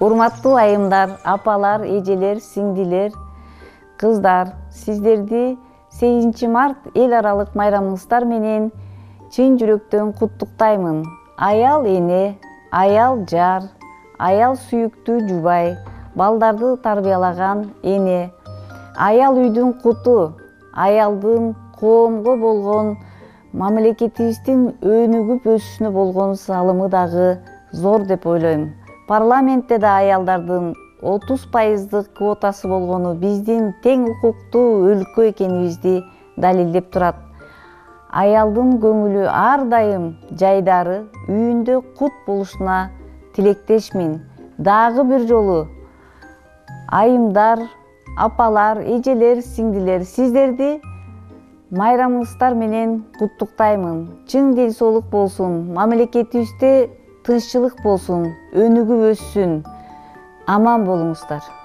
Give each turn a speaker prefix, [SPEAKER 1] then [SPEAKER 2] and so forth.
[SPEAKER 1] Урматтуу айымдар, апалар, эжелер, сиңдилер, кыздар, сиздерди 8 март эл аралык майрамыңыздар менен чын жүрөктөн куттуктаймын. Аял эне, аял жар, аял сүйүктүү жубай, балдарды тарбиялаган эне, аял үйдүн куту, аялдын коомго болгон мамлекетибиздин өнүгүп өсүшүнө болгон салымы дагы зор деп ойлойм. Парламентте да аялдардын 30% квотасы болгону биздин тең укуктуу өлкө экенибизди далилдеп турат. Аялдын көңүлү ар дайым жайдары, үйүндө кут болушуна тилектешмин. Дагы бир жолу айымдар, апалар, эжелер, сиңдилер, сиздерди майрамыңыздар менен куттуктаймын. Чың ден соолук болсун, мамлекетибизде тынччылык болсун, өнүгүп өссүн. Аман болуңуздар.